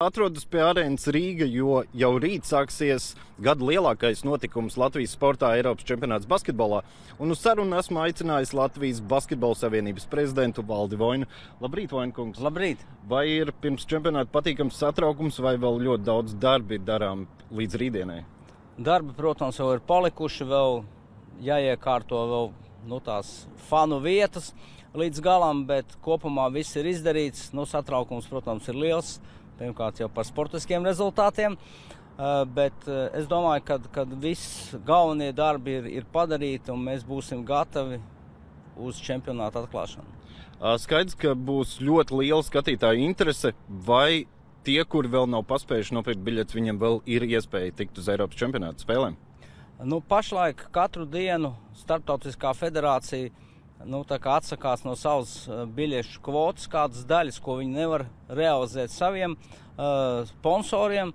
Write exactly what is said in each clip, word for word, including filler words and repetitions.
Atrodas pie arēnas Rīga, jo jau rīt sāksies gada lielākais notikums Latvijas sportā Eiropas čempionāts basketbolā. Un uz sarunu esmu aicinājis Latvijas Basketbola savienības prezidentu Valdi Voinu. Labrīt, Voinkungs! Labrīt! Vai ir pirms čempionāta patīkams satraukums vai vēl ļoti daudz darbi darām līdz rītdienai? Darbi, protams, vēl ir palikuši, vēl jāiekārto vēl nu, tās fanu vietas līdz galam, bet kopumā viss ir izdarīts. Nu, satraukums, protams, ir liels. Pirmkārt jau par sportiskiem rezultātiem, bet es domāju, ka, ka viss galvenie darbi ir, ir padarīti un mēs būsim gatavi uz čempionāta atklāšanu. Skaidrs, ka būs ļoti liela skatītāju interese, vai tie, kuri vēl nav paspējuši nopirkt biļetes, viņiem vēl ir iespēja tikt uz Eiropas čempionāta spēlēm? Nu, pašlaik katru dienu Starptautiskā federācija Nu, tā kā atsakās no savas biļešu kvotas, kādas daļas, ko viņi nevar realizēt saviem uh, sponsoriem.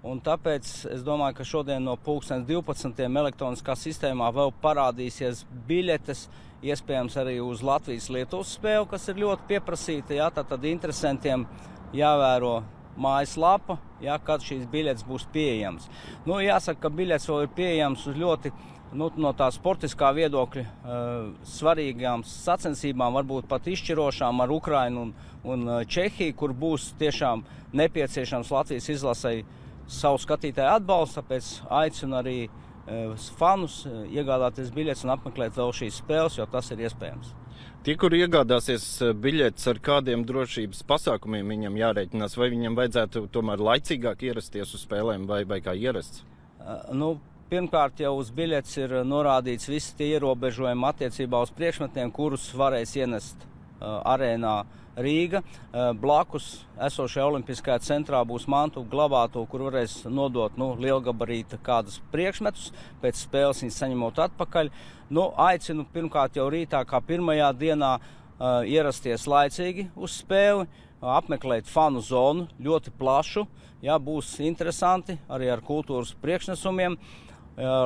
Un tāpēc es domāju, ka šodien no pulkstens divpadsmitiem elektroniskā sistēmā vēl parādīsies biļetes, iespējams arī uz Latvijas-Lietuvas spēli, kas ir ļoti pieprasīta. Jā, tātad interesantiem jāvēro mājaslapa, jā, kad šīs biļetes būs pieejamas. Nu, jāsaka, ka biļetes vēl ir pieejamas uz ļoti Nu, no tā sportiskā viedokļa uh, svarīgām sacensībām, varbūt pat izšķirošām ar Ukrainu un, un Čehiju, kur būs tiešām nepieciešams Latvijas izlasei savu skatītāju atbalstu, tāpēc aicinu arī uh, fanus uh, iegādāties biļetes un apmeklēt vēl šīs spēles, jo tas ir iespējams. Tie, kuri iegādāsies biļetes, ar kādiem drošības pasākumiem viņam jārēķinās, vai viņam vajadzētu tomēr laicīgāk ierasties uz spēlēm vai, vai kā ierasts? Uh, nu, Pirmkārt, jau uz biļetes ir norādīts visi tie ierobežojumi attiecībā uz priekšmetiem, kurus varēs ienest uh, arēnā Rīga. Uh, blakus esošajā Olimpiskajā centrā būs mantu glabātuve, kur varēs nodot nu, lielgabarīta kādus priekšmetus, pēc spēles viņus saņemot atpakaļ. Nu, aicinu pirmkārt jau rītā, kā pirmajā dienā, uh, ierasties laicīgi uz spēli, uh, apmeklēt fanu zonu, ļoti plašu, jā, būs interesanti, arī ar kultūras priekšnesumiem.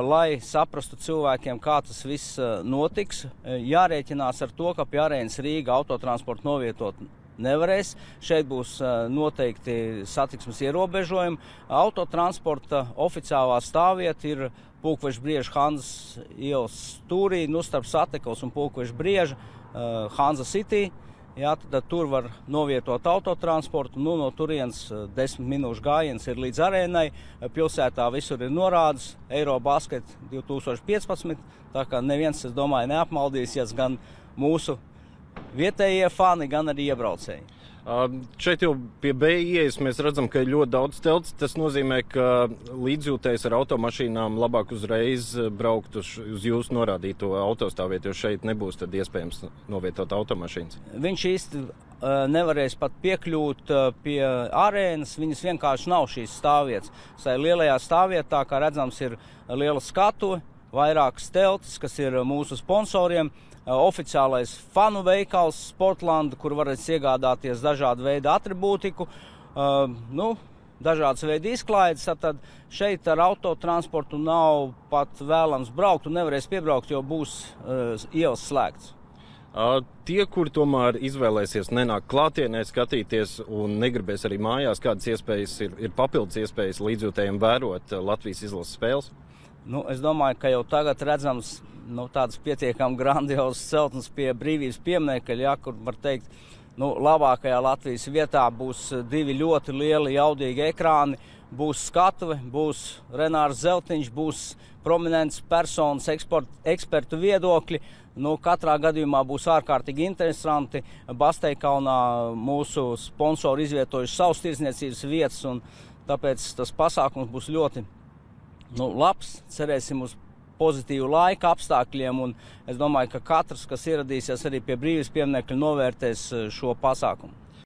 Lai saprastu cilvēkiem, kā tas viss notiks, jārēķinās ar to, ka pie arēnas Rīga autotransportu novietot nevarēs. Šeit būs noteikti satiksmes ierobežojumi. Autotransporta oficiālā stāvvieta ir Pulkveža Brieža Hanzas ielas stūrī, nu starp Satekls un Pulkveža Brieža, Hanza City. Jā, tad tur var novietot autotransportu, nu no turienes desmit minūšu gājiens ir līdz arēnai. Pilsētā visur ir norādes Eirobasket divi tūkstoši piecpadsmit, tā kā neviens, es domāju, neapmaldīsies gan mūsu vietējie fani, gan arī iebraucēji. Uh, šeit jau pie B ieejas mēs redzam, ka ir ļoti daudz telts. Tas nozīmē, ka līdzjūtējs ar automašīnām labāk uzreiz braukt uz, uz jūsu norādīto autostāvvietu, jo šeit nebūs tad iespējams novietot automašīnas. Viņš īsti uh, nevarēs pat piekļūt uh, pie arēnas, viņas vienkārši nav šīs stāvvietas. Sai lielajā stāvvietā, kā redzams, ir liela skatuve, vairākas teltis, kas ir mūsu sponsoriem. Oficiālais fanu veikals Sportland, kur varēs iegādāties dažādu veidu atribūtiku, uh, nu, dažādas veidu izklaides. Tad šeit ar autotransportu nav pat vēlams braukt un nevarēs piebraukt, jo būs uh, ielas slēgts. Uh, tie, kuri tomēr izvēlēsies nenākt klātienē skatīties un negribēs arī mājās, kādas iespējas ir, ir papildus iespējas līdzjūtējiem vērot Latvijas izlases spēles? Nu, es domāju, ka jau tagad redzams nu, tādas pietiekami grandiozas celtnes pie Brīvības pieminekļa, ja, kur var teikt, nu, labākajā Latvijas vietā būs divi ļoti lieli jaudīgi ekrāni, būs skatuve, būs Renārs Zeltiņš, būs prominents personas eksport, ekspertu viedokļi. Nu, katrā gadījumā būs ārkārtīgi interesanti. Basteikalnā mūsu sponsori izvietojuši savus tirdzniecības vietas, un tāpēc tas pasākums būs ļoti nu, labs. Cerēsim uz pozitīvu laika apstākļiem, un es domāju, ka katrs, kas ieradīsies arī pie Brīvības pieminekļa, novērtēs šo pasākumu.